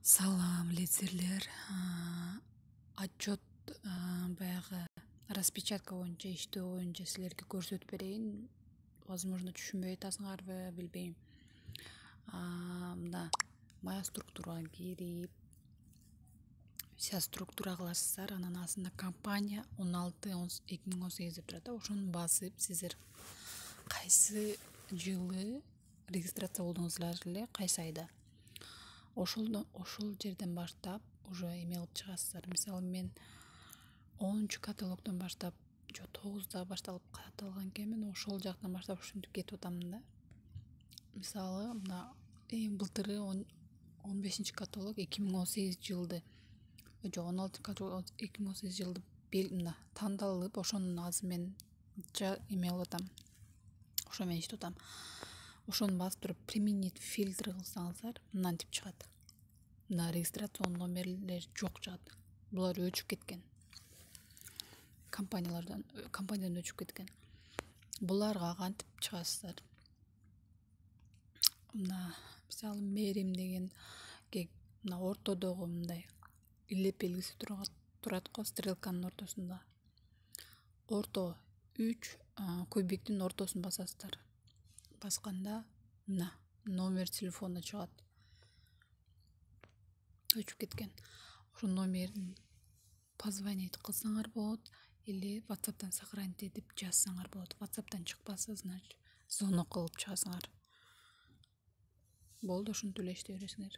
Салам, лидерлер. Отчет баягы распечатка боюнча иштөө боюнча силерге көрсөтүп берейин. Возможно, түшүнбөй атасыңарбы, билбейм. Мына моя структурага кирип, вся структура кыласыздар. Анан астында компания 16-2018 деп турат. Ошону басып, сиздер кайсы жылы регистрация болдуңуздар эле, кайсы айда. Ошол жерден баштап уже эме кылып чыгасыздар. Мисалы мен 10-каталогдон баштап, 9да башталып каталган экенмин. Ошол жактан баштап ушинтип кетип атам да. Мисалы, мына былтыры 15-каталог 2018 жылды, 16-каталог 2018 жылды мына тандалып, ошонун азыр мен эме кылып атам. Ошо менен иштеп атам. Ошону басып туруп применить фильтр кылсаңыздар, мынантип чыгат. Мына регистрационный номерлер жок чыгат. Булар өчүп кеткен. Компаниядан өчүп кеткен. Буларга кантип чыгасыздар? Мына мисалы мерим деген мына ортодогу мындай илеп белгиси турат го, стрелканын ортосунда. Орто 3 кубиктин ортосун басасыздар. Басканда мына номер телефона чыгат. Өчүп кеткен. Ошо номерин позвонить кылсаңар болот или WhatsApp'тан сохранить этип жазсаңар болот. WhatsApp'тан чыкпаса, значит, звонок кылып чыгасыңар. Болду, ушинтип эле иштей бересиңер.